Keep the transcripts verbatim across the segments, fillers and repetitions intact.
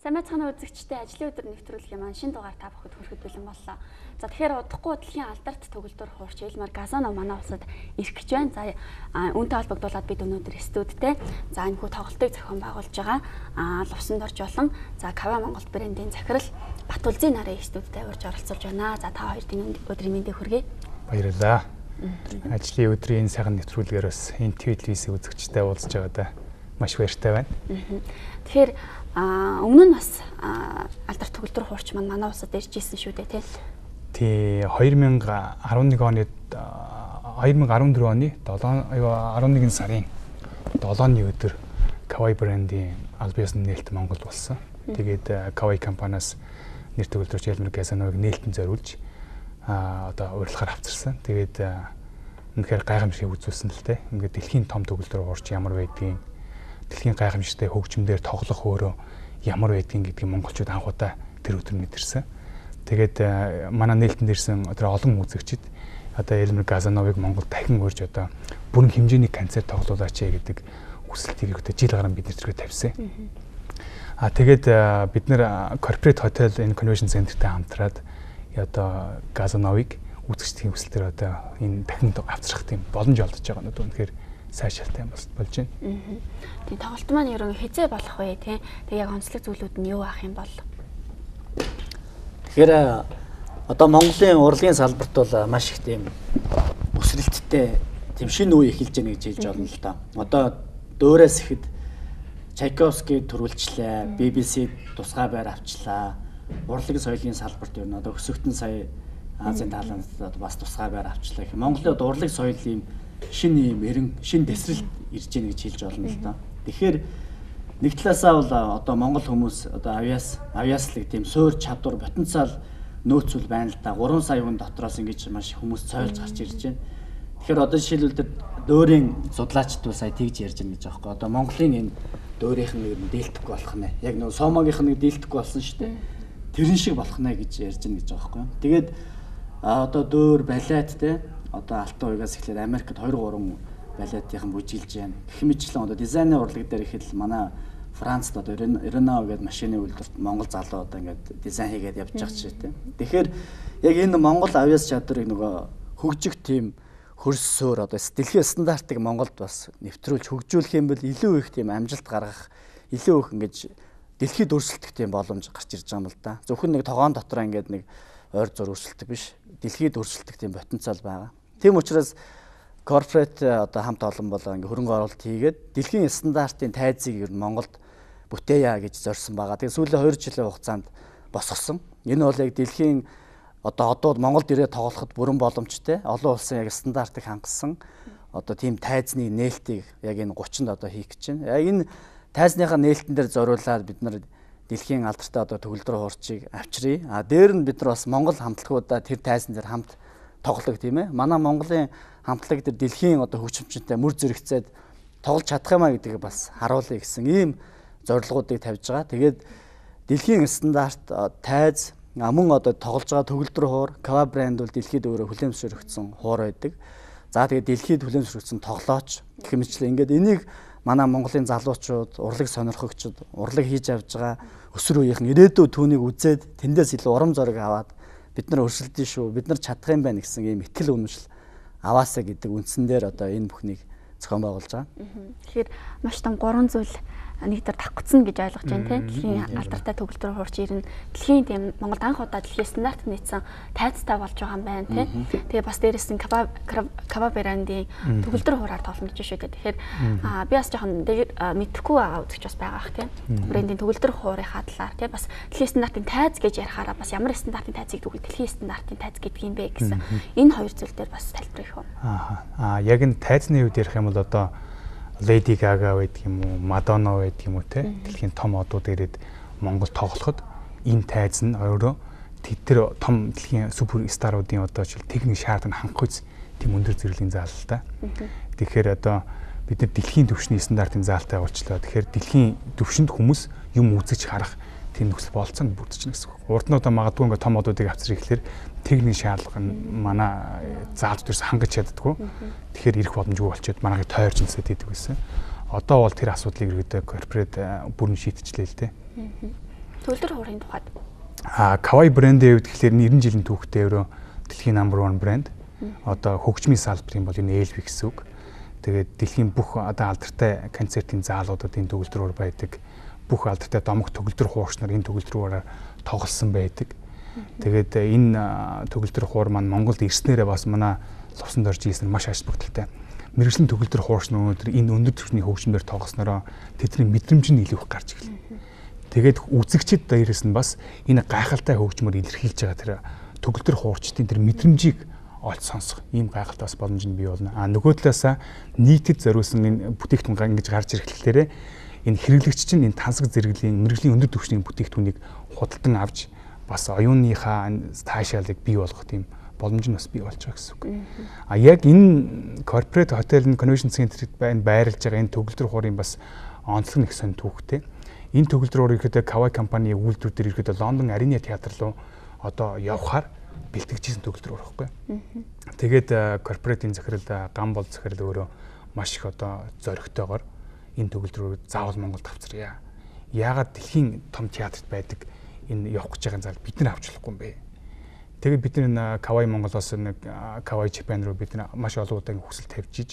За мэцхан үзэгчтэй ажлын өдөр нэвтрүүлгийн маань шинэ дугаар та бүхэнд хүрэхэд бэлэн боллоо. За тэгэхээр удахгүй дэлхийн алдарт төгөлдөр хуурч Элмар Газанов манай улсад ирэх гэж байна. За үүнтэй холбогдуулаад бид өнөөдөр студидтэй за энэ хүү тоглолтыг зохион байгуулж байгаа аа Лувсан Дорж болон за Кава Монгол брендийн захирал Батулзын нарын студидтэй урьж оролцуулж байна. За та хоёрын өдрийн мэндийг хүргэе. Баярлалаа. Ажлын өдрийн сайхан нэвтрүүлгээр бас энэ телевизийн үзэгчтэй уулзж байгаадаа маш баяртай байна. Тэгэхээр өмнө нь бас алдарт төгөлдөр хуурч маань манай улсад ирж ирсэн шүү дээ тий. Тий две тысячи арван нэг оны две тысячи арван дөрөв оны арван нэгэн сарын долооны өдөр Kawai брендийн аль биесны нээлт Монголд болсон. Тэгээд Kawai компаниас нэр төгөлдрөгч Элмар Газановыг нээлтэн зориулж а одоо урилгаар авчирсан. Тэгээд үнэхээр гайхамшиг үзүүлсэн л дээ. Ингээд дэлхийн том төгөлдөр хуурч ямар байдгийг, дэлхийн гайхамшигтай хөгжмөөр тоглох өөрөө ямар байдгийг гэдгийг монголчууд анхудаа тэр өдөр мэдэрсэн. Тэгээд манай нээлтэнд ирсэн тэр олон үзэгчид одоо Элмар Газановыг Монгол дахин урьж одоо бүрэн хэмжээний концерт тоглуулаач гэдэг хүсэлтийг өгдөө жил гарan бид нэр төрөй тавьсан. А тэгээд бид нэр Corporate Hotel энэ Convention Center-тэй хамтраад одоо Газановыг үзэгчдийн хүсэлтээр одоо энэ дахин авчрах тийм боломж олдож байгаа нь үнэхээр сайшаалтай юм болж байна. Тийм тоглолт маань ерөн хязээ болох вэ тий. Тэг яг онцлог зүйлүүд нь юу ах юм бол? Тэгэхээр одоо Монголын урлагийн салбарт бол маш их тийм өсрэлттэй тийм шинэ үе эхэлж байна гэж хэлж байна л да. Одоо дөөрөөс ихэд Чайковский төрүүлчлээ, би би си тусгай байр авчлаа. Урлагийн соёлын салбарт юу н одоо өсөгдөн сая Азийн тааланд бас тусгай байр авчлаа гэх. Монголын урлаг соёлын шинэ юм эрен шинэ дэсрэлт ирж гэнэ гэж хэлж болно л да. Тэгэхээр нэг талаасаа бол одоо монгол хүмүүс одоо авиас авиаслыг тийм суур чадвар потенциал нөөцөл байна л да. гурван саяын дотроос ингэж маш хүмүүс цойлж гарч ирж байна. Тэгэхээр одоо жишээлбэл дөөрийн судлаачд бол сая тэгж ярьж байна гэж байгаа байхгүй. Одоо Монголын энэ дөөрийнх нь ер нь дийлдэхгүй болох нэ. Яг нэг Сомогийнх нь дийлдэхгүй болсон шүү дээ. Тэрэн шиг болох нэ гэж ярьж байна гэж байгаа байхгүй. Тэгээд одоо дөөр балет те одоо алтан уягаас эхлээд Америкт two three балетийнхан бүжиглж байна. Гэх мэтлэн одоо дизайны урлаг дээр ихэд манай Францд одоо Renault гэдэг машины үйлдвэрт Монгол залуу одоо ингээд дизайн хийгээд явж байгаа ч тийм. Тэгэхээр яг энэ Монгол авиас чадварыг нөгөө хөгжих тийм хөрсөөр одоо дэлхийн стандартыг Монголд бас нэвтрүүлж хөгжүүлэх юм бол илүү их тийм амжилт гаргах, илүү их ингэж дэлхийд өрсөлдөх тийм боломж гарч ирж байгаа юм л да. Зөвхөн нэг тогоон дотроо ингээд нэг ойр зур өрсөлдөх биш, дэлхийд өрсөлдөх тийм потенциал байгаа. Тийм учраас корпорат одоо хамт олон болоо ингээ хөрөнгө оруулалт хийгээд дэлхийн стандартын тайзыг ер нь Монголд бүтээя гэж зорьсон байгаа. Тэгээ сүүлийн two жилийн хугацаанд босгосон. Энэ бол яг дэлхийн одоо одоо Монголд ирээд тоглоход бүрэн боломжтой. Олон улсын яг стандартыг хангасан одоо тийм тайзны нээлтийг яг энэ thirty-нд одоо хийх гэж байна. Яг энэ тайзныхаа нээлтэн дээр зориулаад бид нар дэлхийн алдартай одоо төгөлдөр хуурчийг авчиръя. А дээр нь бид нар бас Монгол хамтлагуудаа тэр тайзан дээр хамт тоглох тийм ээ. Манай Монголын хамтлаг дээр дэлхийн одоо хөгжимчтэй мөр зэрэгцээд тоглож чадах юмаа гэдгийг бас харуулъя гэсэн ийм зорилгоодыг тавьж байгаа. Тэгээд дэлхийн стандарт тайз мөн одоо тоглож байгаа төгөлдөр хуур Kava брэнд бол дэлхийд өөрөө хүлээмжшөрөгдсөн хуур байдаг. За тэгээд дэлхийд хүлээмжшөрөгдсөн тоглооч гэх мэтлээ ингээд энийг манай Монголын залуучууд, урлаг сонирхогчид, урлаг хийж авж байгаа өсвөр үеийнхэн ирээдүйд түүнийг үзээд тэндээс илүү урам зориг аваад бид нар өрсөлдөн шүү, бид нар чадах юм байна гэсэн ийм итгэл үнэмшил аваасаа гэдэг үндсэн дээр одоо энэ бүхнийг зохион байгуулж байгаа. Тэгэхээр маш том гурван зүйл нэг дээр давхцсан гэж ойлгож байна тийм. Дэлхийн алдартай төгөлдөр хуурч ирнэ. Дэлхийн тийм Монголд анх удаа дэлхийн стандарт нийцсэн тайзтай болж байгаа юм байна тийм. Тэгээ бас дээрээс нь Kava Kava брендийн төгөлдөр хуураар тоглоно гэж шүү дээ. Тэгэхээр би бас жоохон мэдхгүй байгаа үзэж бас байгаа ах тийм. Брендийн төгөлдөр хуурийнхаа талаар тийм бас дэлхийн стандартын тайз гэж ярихаараа бас ямар стандартын тайзыг дүүгээ дэлхийн стандартын тайз гэдэг юм бэ гэсэн энэ хоёр зүйл дээр бас тайлбарах юм. Аа аа яг энэ тайзны үед ярих юм бол одоо Lady Gaga байдаг юм уу, Madonna байдаг юм уу те дэлхийн том одууд ирээд Монгол тоглоход энэ тайз нь өөрөө тэр том дэлхийн суперстаруудын одоо жишээл техник шаардлага хангах үс тийм өндөр зэрэглэлийн заал л да. Тэгэхээр одоо бид нар дэлхийн түвшний стандартын заалтай уулзлаа. Тэгэхээр дэлхийн түвшинд хүмүүс юм үзэж харах тийм нөхцөл болцоонд бүрдчихнэ гэсэн үг. Урд нь одоо магадгүй ингээ том одуудыг авчрах гэхэлэр техник шаардлага нь манай заалт дээрс хангаж чаддаггүй. Тэгэхээр ирэх боломжгүй болчиход манайхыг тойрч нисээд идэг гэсэн. Одоо бол тэр асуудлыг ерөөдөө корпорат бүрэн шийдчихлээ л дээ. Төгөлдөр хуурын тухайд. А Kawaii брэндийн хувьд тэгэхээр нэрэн жилийн түүхтэй өөрөө дэлхийн number one брэнд. Одоо хөгжмийн салбарын бол энэ эл би гэсэн үг. Тэгээд дэлхийн бүх одоо алдартай концертын заалуудад энэ төгөлдрөөр байдаг. Бүх алдартай домог төгөлдөр хуурчнаар энэ төгөлдрөөр тоглосон байдаг. Тэгээд энэ төгөлдөр хуур маань Монголд ирснээрээ бас манай лувсан дорж ийснээр маш аж бүгдэлтэй. Мэргэжлийн төгөлдөр хуурч нь өнөөдөр энэ өндөр түвшний хөгжмөөр тоглоснороо тэдний мэдрэмж нь илүү их гарч ирлээ. Тэгээд үзэгчид дээрээс нь бас энэ гайхалтай хөгжмөөр илэрхийлж байгаа тэр төгөлдөр хуурчдын тэр мэдрэмжийг олж сонсох ийм гайхалтай бас боломж нь бий болно. А нөгөө талаасаа нийтэд зориулсан энэ бүтээгдэхүүн ингэж гарч ирэхлээрээ энэ хэрэглэгч чинь энэ тансаг зэрэглэлийн мэргэжлийн өндөр түвшний бүтээгдэхүүнийг худалдан авч бас оюуныхаа таашаалыг бий болгох тийм боломж нь бас бий болж байгаа гэсэн үг. А яг энэ корпорэт хотел конвеншн центрт байна байрлаж байгаа энэ төгөлдөр хуурын бас онцлог нэг сонь түүхтэй. Энэ төгөлдөр хуур ихэд Kawaii компани үйлдвэр дээр ихэд Лондон Арена театр руу одоо явхаар бэлтгэжсэн төгөлдөр хуур байхгүй. Тэгээд корпоратийн захирал гам бол захирал өөрөө маш их одоо зоригтойгоор энэ төгөлдөр хуур заавал Монголд авчиръя. Яагаад дэлхийн том театрт байдаг энэ явах гэж байгаа зал бид нар авч болохгүй юм бэ? Тэгээд бид нар Kawaii Монголоос нэг Kawaii Japan руу бид нар маш олон удаагийн хүсэл тавьж иж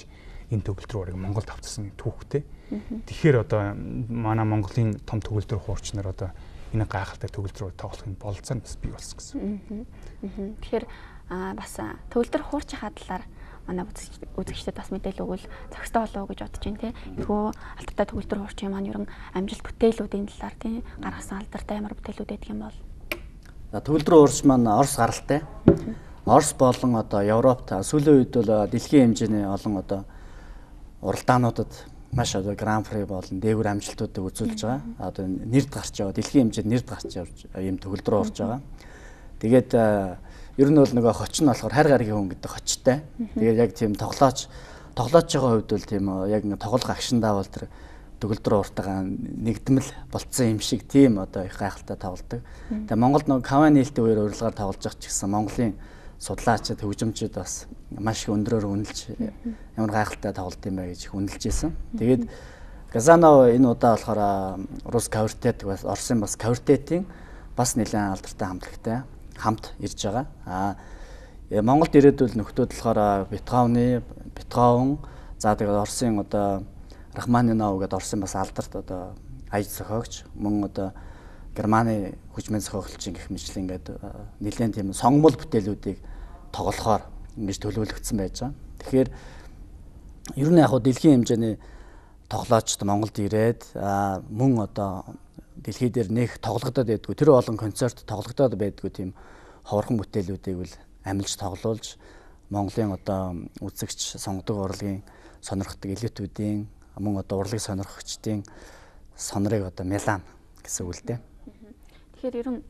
энэ төгөлдөр хуурыг Монголд авчирсан түүхтэй. Тэгэхээр одоо манай Монголын том төгөлдөр хуурч нар одоо энэ гайхалтай төгөлдөр хуур тоглохын бололцоо нь бас бий болсон гэсэн. Тэгэхээр бас төгөлдөр хуурчийн талаар манай үзэгчдэд бас мэдээлэл өгвөл зохистой болов уу гэж бодож байна тийм. Ихөө алдартай төгөлдөр хуурчийн маань ерөн амжилт бүтээлүүдийн талаар тийм гаргасан алдартай ямар бүтээлүүд байдаг юм бол. Төгөлдөр хуурч маань Орос гаралтай. Орос болон одоо Европт сүүлийн үед бол дэлхийн хэмжээний олон одоо уралдаануудад маш одоо гран при болон дээгүүр амжилтуудыг үзүүлж байгаа. Одоо нэрд гарч яваа дэлхийн хэмжээнд нэрд гарч явж ийм төгөлдөр хуурч байгаа. Тэгээд ер нь бол нөгөө хоч нь болохоор хайр гаргийн хүн гэдэг хочтой. Тэгээд яг тийм тоглооч тоглооч байгаа хувьд бол тийм яг нэг тоглох агшиндаа бол тэр төгөлдөр хууртайгаа нэгдмэл болцсон юм шиг тийм одоо их гайхалтай тоглодог. Тэгээд Монголд нөгөө Kawaii нээлттэй үеэр урилгаар тоглож байгаа ч гэсэн Монголын судлаачид хөгжимчид бас маш их өндрөөр үнэлж ямар гайхалтай тоглолт юм бэ гэж үнэлж байсан. Тэгээд Газанов энэ удаа болохоор Рус квартет бас Оросын бас квартетийн бас нэлээд алдартай хамтлагтай хамт ирж байгаа. Аа Монголд ирээдүйн нөхдүүд болохоор Бетховны Бетховен за тэгээд Оросын одоо Рахманинов гэдэг Оросын бас алдарт одоо аяж зохиогч мөн одоо Германы хүчмэн зохиогчийн гэх мэтлэн ингээд нэлээд тийм сонгомол бүтээлүүдийг тоглохоор ингэж төлөвлөгдсөн байж байгаа. Тэгэхээр ер нь яг хуу дэлхийн хэмжээний тоглоочд Монголд ирээд мөн одоо дэлхий дээр нэх тоглогдоод байдгүй тэр олон концерт тоглогдоод байдгүй тийм ховорхон бүтээлүүдийг бол амилж тоглуулж Монголын одоо үзэгч сонгодог урлагийн сонирхдаг элитүүдийн мөн одоо урлагийг сонирхогчдын сонорыг одоо Милан гэсэн үг л дээ. Тэгэхээр ер нь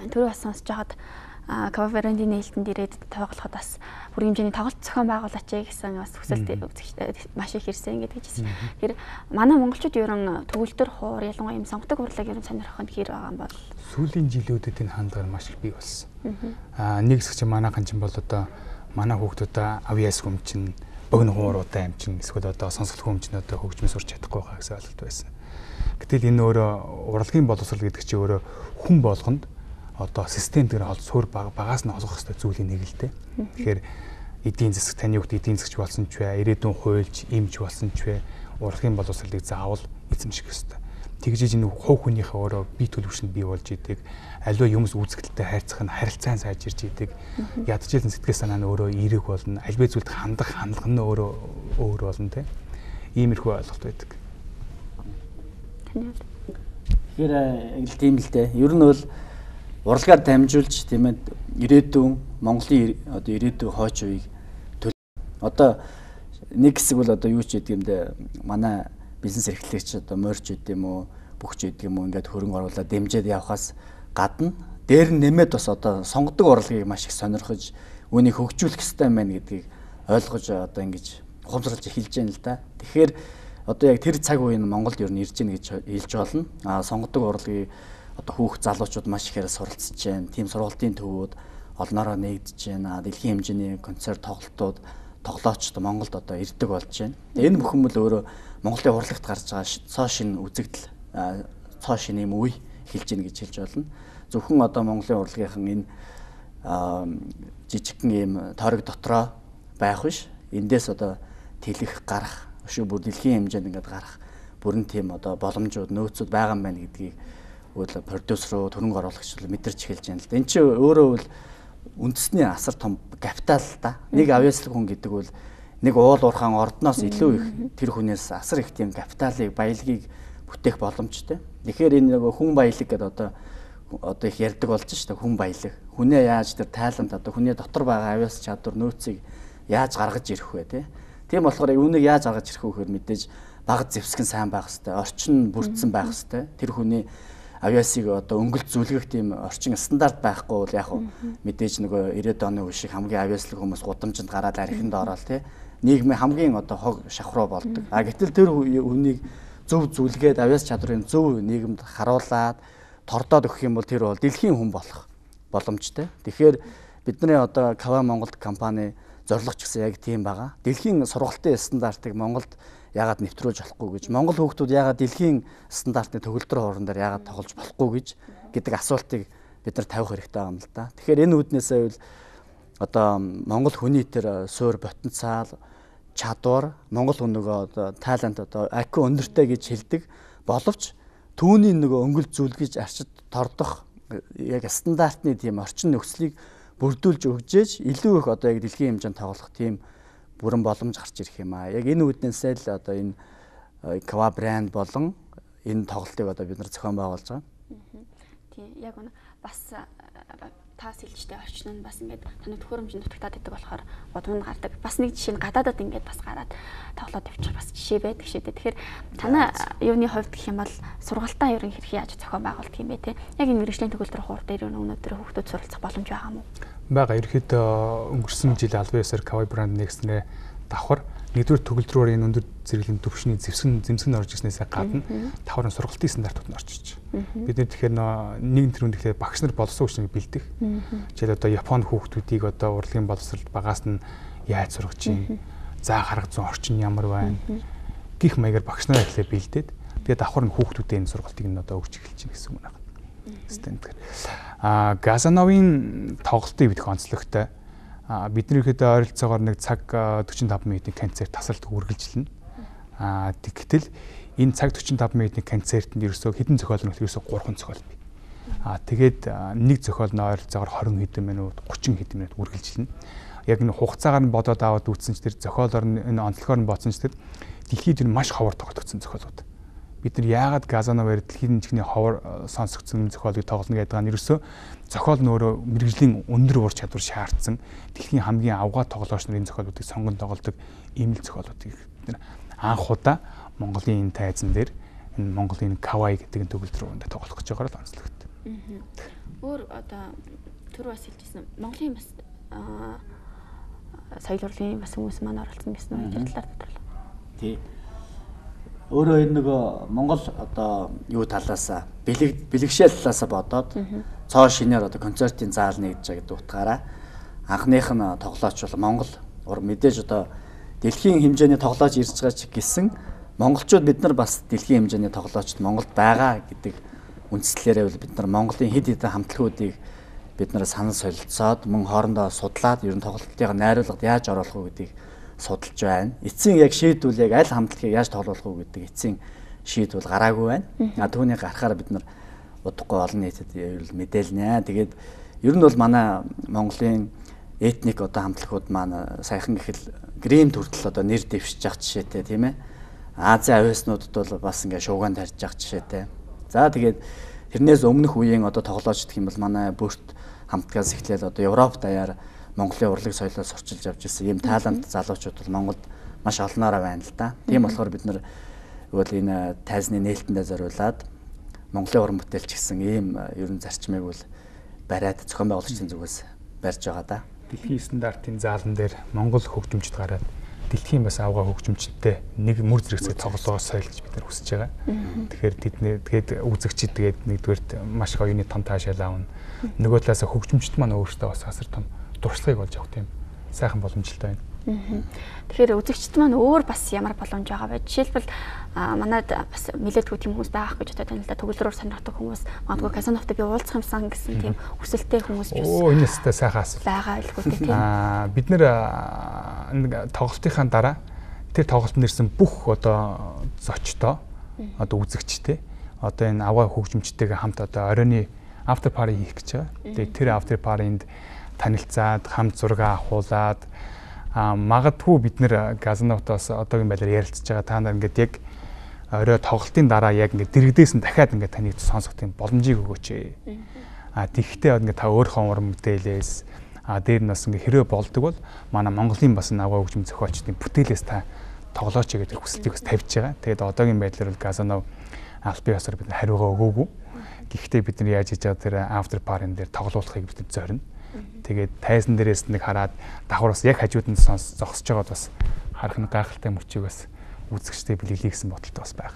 түрүү бас сонсож байхад Kawaii брэндийн нээлтэнд ирээд тоглоход бас бүр хэмжээний тоглолт зохион байгуулаач гэсэн бас хүсэлт үзэгчдэд маш их ирсэн гэдэг чинь. Тэгэхээр манай монголчууд ер нь төгөлдөр хуур ялангуяа юм сонгодог урлаг ер нь сонирхоход хэр байгаа юм бол сүүлийн жилүүдэд энэ хандлага маш их бий болсон. Аа нэг хэсэг чинь манайхан чинь бол одоо манай хүүхдүүд авьяас хүмчин богино хууруудаа амчин эсвэл одоо сонсголт хүмчин одоо хөгжмөс сурч чадахгүй байгаа гэсэн ойлголт байсан. Гэтэл энэ өөрөө урлагийн боловсрол гэдэг чинь өөрөө хүн болгонд одоо систем дээр хол суурь багаас нь олгох хэрэгтэй зүйлийн нэг л дээ. Тэгэхээр эдийн засаг таны хүүхд эдийн засагч болсон ч вэ, ирээдүйн хуульч, эмч болсон ч вэ, урлагийн боловсролыг заавал эзэмших хэрэгтэй. Тэгжиж энэ хувь хүнийхээ өөрөө бие төлөвшөнд бий болж идэг, аливаа юмс үзэгдэлтэй хайрцах нь харилцаан сайжирч идэг, ядчихсан сэтгэл санаа нь өөрөө эерэг болно, аливаа зүйлд хандах хандлага нь өөрөө өөр болно те. Иймэрхүү ойлголт байдаг. Тэгэхээр яг тийм л дээ. Ер нь бол урлагаар дамжуулж тийм ээ ирээдүйн Монголын одоо ирээдүйн хойч үеийг одоо нэг хэсэг бол одоо юу ч гэдэг юм дэ манай бизнес эрхлэгч одоо морч гэдэг юм уу бүгч гэдэг юм уу ингээд хөрөнгө оруулаад дэмжиж явхаас гадна дээр нь нэмээд бас одоо сонгодог урлагийг маш их сонирхож үүнийг хөгжүүлэх хэрэгтэй юм байна гэдгийг ойлгож одоо ингэж ухамсарлаж эхэлж байна л да. Тэгэхээр одоо яг тэр цаг үеийн Монголд ер нь ирж гин гэж хэлж болно. А сонгодог урлагийн одоо хүүхд залуучууд маш ихээр суралцж байна. Тим сургалтын төвүүд олноороо нэгдэж байна. Дэлхийн хэмжээний концерт тоглолтууд тоглоочд Монголд одоо ирдэг болж байна. Энэ бүхэн бол өөрөө Монголын урлагт гарч байгаа цоо шин үзэгдэл цоо шин юм үе эхэлж гин гэж хэлж болно. Зөвхөн одоо Монголын урлагийнхан энэ жижигхэн ийм тойрог дотроо байх биш. Эндээс одоо тэлэх гарах, өшөө бүр дэлхийн хэмжээнд ингээд гарах бүрэн тийм одоо боломжууд нөөцүүд байгаа юм байна гэдгийг үл продюсер руу төрөнг оруулагч мэдэрч эхэлж байна л да. Энд чинь өөрөө бол үндэсний асар том капитал да. Нэг авьяаслаг хүн гэдэг бол нэг уул уурхаан ордноос илүү их тэр хүнээс асар их тийм капиталыг, баялагийг бүтээх боломжтой. Тэгэхээр энэ нэг хүн баялаг гэдэг одоо одоо их ярьдаг болж шүү дээ, хүн баялаг. Хүнээ яаж тэр тайлант одоо хүний дотор байгаа авьяас чадвар нөөцийг яаж гаргаж ирэх вэ те. Тийм болохоор үүнийг яаж гаргаж ирэх вэ гэхээр мэдээж баг зэвсгэн сайн байх хэрэгтэй, орчин бүрдсэн байх хэрэгтэй. Тэр хүний авьяасыг одоо өнгөлт зүлгэх тийм орчин стандарт байхгүй бол яг мэдээж нөгөө ирээдүйн оны үе шиг хамгийн авьяаслаг хүмүүс гудамжинд гараад архинд ороод те нийгмийн хамгийн одоо хог шавхруу болдог. А гэтэл тэр үнийг зөв зүлгээд авьяас чадрын зөв нийгэмд харуулад тордоод өгөх юм бол тэр бол дэлхийн хүн болох боломжтой. Тэгэхээр бидний одоо Кава Монголд компани зорилго ч гэсэн яг тийм байгаа. Дэлхийн сургалтын стандартыг Монголд яагаад нэвтрүүлж болохгүй гэж, Монгол хүүхдүүд яагаад дэлхийн стандартны төгөлдөр хооронд дээр яагаад тоглож болохгүй гэж гэдэг асуултыг бид нар тавих хэрэгтэй байгаа юм л да. Тэгэхээр энэ үүднээсээ бол одоо Монгол хүний тэр суур потенциал, чадвар, Монгол хүн нөгөө одоо талант одоо ай кью өндөртэй гэж хэлдэг боловч түүний нөгөө өнгөл зүлгэж арчид тордох яг стандартны тийм орчин нөхцөлийг бүрдүүлж өгжээж илүү их одоо яг дэлхийн хэмжээнд тоглох тийм бүрэн боломж гарч ирэх юм аа. Яг энэ үүднээсээ л одоо энэ Кава брэнд болон энэ тоглолтыг одоо бид нар зохион байгуулж байгаа. Тийм яг үнэ бас таас хэлжтэй орчин нь бас ингээд таны төхөөрөмжөнд дутагтаад байдаг болохоор бодвол гардаг. Бас нэг жишээ нь гадаадад ингээд бас гараад тоглоод явчих бас жишээ байдаг шээ. Тэгэхээр танай юуны хувьд гэх юм бол сургалтаа ерөн хэрхэн яаж зохион байгуулдаг юм бэ те? Яг энэ мэргэжлийн төгөлдөр хуур дээр өнөөдөр хүүхдүүд суралцах боломж байгаа юм уу? Бага ерөөхдөө өнгөрсөн жил албан ёсоор Кава брэнд нэгснээ давхар нэгдүгээр төгөлдрөөр энэ өндөр зэрэглэм төвшний зэвсгэн зэмсгэн орж ирснээсээ гадна давхар сургалтын стандартууд нь орж ирж байна. Бид нэр тэгэхээр нэгэн тэрүүнд тэгэхээр багш нар боловсон хүчнийг бэлдэх. Жишээл одоо Японд хүүхдүүдийг одоо урлагийн боловсролд багаас нь яаж сургаж чинь, заа гарга зүүн орчин ямар байна гих маягаар багш нараа эхлээ бэлдээд тэгээд давхар нь хүүхдүүдэд энэ сургалтыг нь одоо өгч эхэлж байна гэсэн үг байна. Стандартаар. А Газановын тоглолтыг бид онцлогтой. А бидний ихэд ойролцоогоор нэг цаг forty-five минутын концерт тасалд үргэлжилнэ. А тэгтэл энэ цаг forty-five минутын концертанд ерөөсөө хэдэн зохиол нь ерөөсөө three зохиол бий. А тэгээд нэг зохиол нь ойролцоогоор twenty хэдэн минут, thirty хэдэн минут үргэлжилнэ. Яг энэ хугацаагаар нь бодоод аваад үзсэн ч тэр зохиолоор нь энэ онцлогоор нь бодсон ч тэр дэлхийд энэ маш ховор тогтогдсон зохиолууд. Бид нар яагаад Газановаар дэлхийн чихний ховор сонсогдсон зохиолыг тоглоно гэдэг нь ерөөсөө зохиол нөөрөө мэрэгжлийн өндөр ур чадвар шаардсан дэлхийн хамгийн авгаа тоглогч нарын зохиолуудыг сонгон тоглодог ийм л зохиолуудыг бид нар анх удаа Монголын энэ тайзан дээр энэ Монголын Кавай гэдэг төгөлдөр рүү тоглох гэж байгаагаар л онцлогтой. Өөр одоо түр бас хэлжсэн Монголын бас соёл урлагийн бас хүмүүс маань оролцсон гэсэн үг талаар тодорхойлоо. Тий. Өөрөө энэ нөгөө Монгол одоо юу талаасаа бэлэг бэлэгшээл талаасаа бодоод цоо шинээр одоо концертын заал нэгдэж байгаа гэдэг утгаараа анхных нь тоглооч бол Монгол мэдээж одоо дэлхийн хэмжээний тоглооч ирж байгаа ч гэсэн монголчууд бид нар бас дэлхийн хэмжээний тоглоочд Монголд байгаа гэдэг үндслээрээ бол бид нар Монголын хэд хэдэн хамтлагуудыг бид нар санал солилцоод мөн хоорондоо судлаад ер нь тоглолтыг найруулгад яаж оруулах вэ гэдгийг судалж байна. Эцсийн яг шийдвэл яг аль хамтлагийг яаж тоглох вэ гэдэг эцсийн шийдвэл гараагүй байна. А түүнийг гаргахаар бид нар удахгүй олон нийтэд мэдээлнэ. Тэгээд ер нь бол манай Монголын этник одоо хамтлагууд маань саяхан гэхэл грим төртөл одоо нэр дэвшиж явах жишээтэй тийм ээ. Азийн авиаснуудад бол бас ингээ шуугаан тарьж явах жишээтэй. За тэгээд тэрнээс өмнөх үеийн одоо тоглоочд гэх юм бол манай бүрт хамтгаас эхлээл одоо Европ даяар Монголын урлаг соёлоос сурчилж явж ирсэн ийм талант залуучууд бол Монголд маш олноороо байна л да. Тийм болохоор бид нар бол энэ тайзны нээлтэндээ зориулаад Монголын уран бүтээлч гэсэн ийм ерөн зарчмыг бол бариад зохион байгуулагчдын зүгээс барьж байгаа да. Дэлхийн стандартын заалан дээр Монгол хөгжимчд гараад дэлхийн бас авгаа хөгжимчдтэй нэг мөр зэрэгцээ тоглоо соёл гэж бид нар хүсэж байгаа. Тэгэхээр тэдний тэгээд үзэгчид тэгээд нэгдүгээрт маш их оюуны том таашаал аавна. Нөгөө талаас хөгжимчд маань өөрсдөө бас асар том туршлагыг олж авах тийм сайхан боломжтой байна. Тэгэхээр үзэгчд маань өөр бас ямар боломж байгаа вэ? Жишээлбэл манайд бас нэлээдгүй тийм хүмүүс байгаа гэж бодож байна л да. Төгөлдрөөр сонирхдаг хүмүүс, магадгүй казиновтой би уулзах юмсан гэсэн тийм хүсэлтэй хүмүүс ч бас оо энэ өстэй сайхан асуулт байгаа илгүй тийм. Аа бид нэр нэг тоглолтынхаа дараа тэр тоглолтод нэрсэн бүх одоо зочдоо одоо үзэгчтэй одоо энэ аваа хөгжимчтэйгээ хамт одоо оройны after party хийх гэж байгаа. Тэгээд тэр after party-нд танилцаад хамт зураг авахуулаад а магадгүй бид нэр газнавтаас одоогийн байдлаар ярилцж байгаа та нар ингээд яг орой тоглолтын дараа яг ингээд дэрэгдээс нь дахиад ингээд таныг сонсох тийм боломжийг өгөөч. А тэгхдээ ингээд та өөрийнхөө уран мэдээлээс а дээр нь бас ингээд хэрэг болдог бол манай Монголын бас аваа хөгжим зохиолчдын бүтээлээс та тоглооч гэдэг хүсэлтийг бас тавьж байгаа. Тэгээд одоогийн байдлаар бол газнав албан ёсоор бид хариугаа өгөөгүй. Гэхдээ бид нар яаж хийж байгаа тэр after party-н дээр тоглоулахыг бид зорино. Тэгээд тайзан дээрээс нэг хараад давхар бас яг хажууд нь зогсож байгаад бас харах нь гайхалтай мөчийг бас үзэгчтэй бэлгэлээ гэсэн бодолтой бас байх.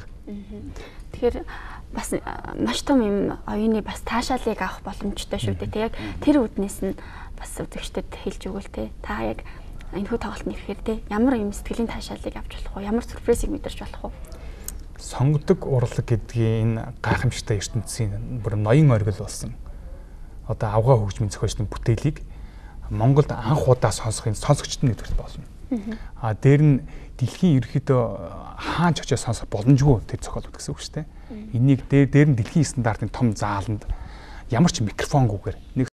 Тэгэхээр бас маш том юм оюуны бас таашаалыг авах боломжтой шүү дээ. Яг тэр үднээс нь бас үзэгчдэд хэлж өгвөл те. Та яг энэхүү тоглолтод ирэхээр те ямар юм сэтгэлийн таашаалыг авч болох вэ? Ямар сюрпризийг мэдэрч болох вэ? Сонгодог урлаг гэдгийн энэ гайхамшигтай ертөнцийн бүр ноён оргил болсон. Одоо авгаа хөгжмийн зохиолчдын бүтээлийг Монголд анх удаа сонсохын сонсогчд нь нэвтрэх болно. А дээр нь дэлхийн ерөөхдөө хаан ч очиж сонсох боломжгүй тэр зохиолууд гэсэн үг шүү дээ. Энийг дээр дээр нь дэлхийн стандартын том зааланд ямар ч микрофонгүйгээр нэг